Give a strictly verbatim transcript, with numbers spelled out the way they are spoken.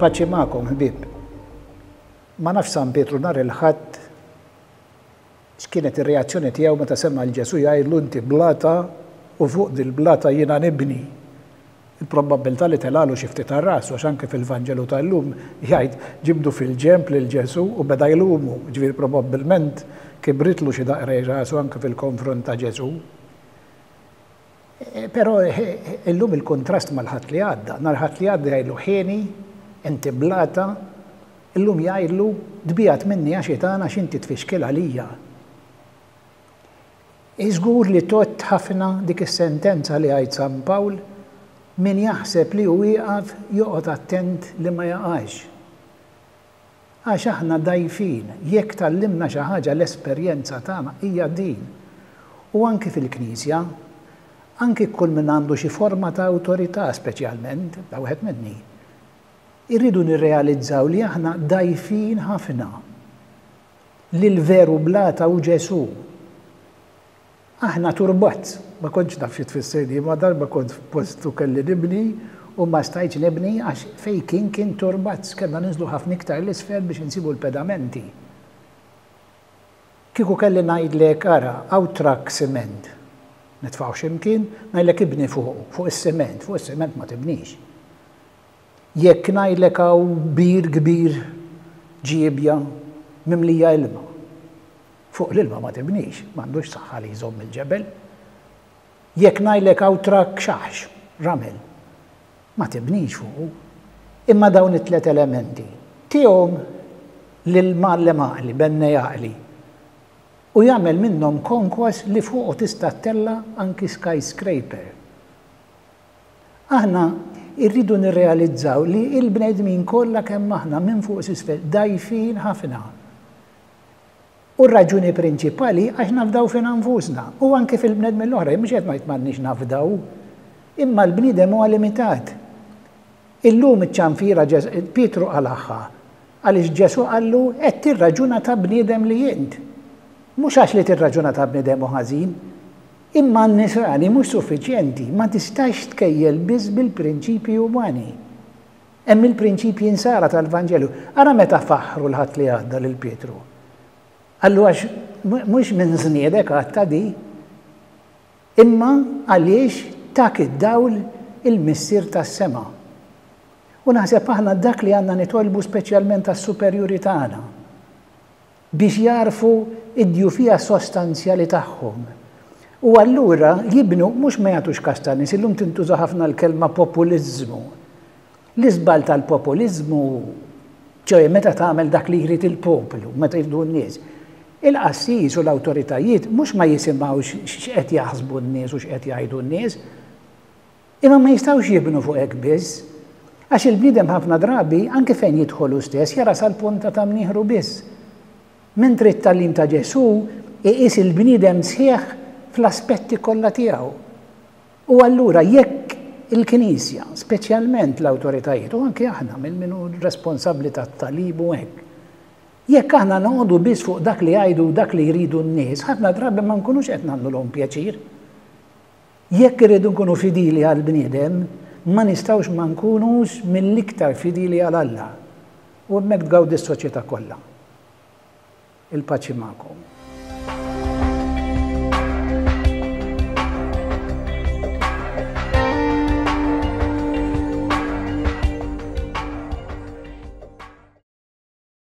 Il-paċi magħkom, ħbieb. Ma nafx San Pietru nhar il-Ħadd x'kienet ir-reazzjoni tiegħu meta sema' 'l Ġesù jgħidlu inti blata u fuq dil-blata jiena nibni. Il-probabbiltà li telgħalu xi ftit għar-rasu għax anke fil-Vanġelu tal-lum jgħid ġibdu fil-ġenb lil Ġesù u beda jlumu, ġifieri probabbilment kibritlu xi daqra rasu anke fil-konfront ta' Ġesù. Però illum il-kontrast mal-Ħadd li għadda. Nhar Ħadd li għadda jgħidlu ħieni, inti blata, illum jgħidlu tbiegħed minni ja xitan għax inti tfixkel għalija. Iżgur li tgħodd ħafna dik is-sentenza li jgħid San Pawl, min jaħseb li hu wieqaf joqgħod attent li ma jaqax. Għax aħna dgħajfin, jekk tgħallimna xi ħaġa l-esperjenza tagħna hija din. U anki fil-Knisja, anki kull min għandu xi forma ta' awtorità speċjalment, da wieħed minni, irridu nirrealizzaw li aħna dgħajfin ħafna. Li l-veru blata hu Ġesù. Aħna turbazz, ma kontx naf xi tfisser di, ma darba kont f'post u kelli nibni u ma stajtx nibni għax fejn kien kien turbazz, kellna ninżlu ħafna iktar l-isfel biex insibu l-pedamenti. Kieku kelli ngħidlek ara, hawn trakk siment, nitfgħu x'imkien, ngħidlek ibni fuqu, fuq is-siment, fuq is-siment ma tibnix. Jekk ngħidlek hawn bir kbir ġiebja mimlija ilma, fuq l-ilma ma tibnix, m'għandux saħħa li jżomm il-ġebel. Jekk ngħidlek hawn trakk xaħx, ramel, ma tibnix fuqu. Imma dawn it-tliet elementi tihom lil mgħallem għaqli, bennej għaqli, u jagħmel minnhom konkos li fuqu tista' ttella' anki skyscraper. Aħna rridu nirrealizzaw li l-bnedmin kollha kemm aħna minn fuq s'isfel dgħajfin ħafna. U r-raġuni prinċipali għax nafdaw fina nfusna u anke fil-bnedmin l-oħra, mhux qed ngħid m'għandniex nafdaw, imma l-bniedem huwa limitat. Illum iċ-ċanfira Pietru qalagħha għaliex Ġesù qallu qed tirraġuna ta' bniedem li int. Mhux għax li tirraġuna ta' bniedem hu ħażin, imma n-nisrani mhux suffiċjenti, ma tistax tkejjel biss bil-prinċipji umani. Hemm il-prinċipji insara tal-Vanġelu. Ara meta faħħru l-Ħadd li għadda lil Pietru. Qallu għax mhux minn żniedek għadta di, imma għaliex tak id-dawl il-Missier tas-sema. U naħseb aħna dak li għandna nitolbu speċjalment għas-superjuri tagħna biex jarfu id-djufija sostanzjali tagħhom. U allura jibnu mhux ma jagħtux kas tan-nies, illum tintuża ħafna l-kelma populiżmu. L-iżball tal-populiżmu, ċoe meta tagħmel dak li jrid il-poplu, meta jridu n-nies. Il-qassis u l-awtoritajiet mhux ma jisimgħux x'qed jaħsbu n-nies u x'qed jgħidu n-nies, imma ma jistgħux jibnu fuq hekk biss. Għax il-bniedem ħafna drabi, anke fejn jidħolu stess, jara sal-punta ta' mnieħru biss. Mentri t-tagħlim ta' Ġesù iqis il-bniedem sħiħ fl-aspetti kollha tiegħu. U allura jekk il-Knisja, speċjalment l-awtoritajiet, u anke aħna minn min hu responsabbli tat-tagħlim u hekk, jekk aħna noqogħdu biss fuq dak li jgħidu u dak li jridu n-nies, ħafna drabi ma nkunux qed nagħmlulhom pjaċir. Jekk irridu nkunu fidili għall-bniedem, ma nistgħux ma nkunux mill-iktar fidili għal Alla. U hemmhekk tgawdi s-soċjetà kollha. Il-paċi magħkom.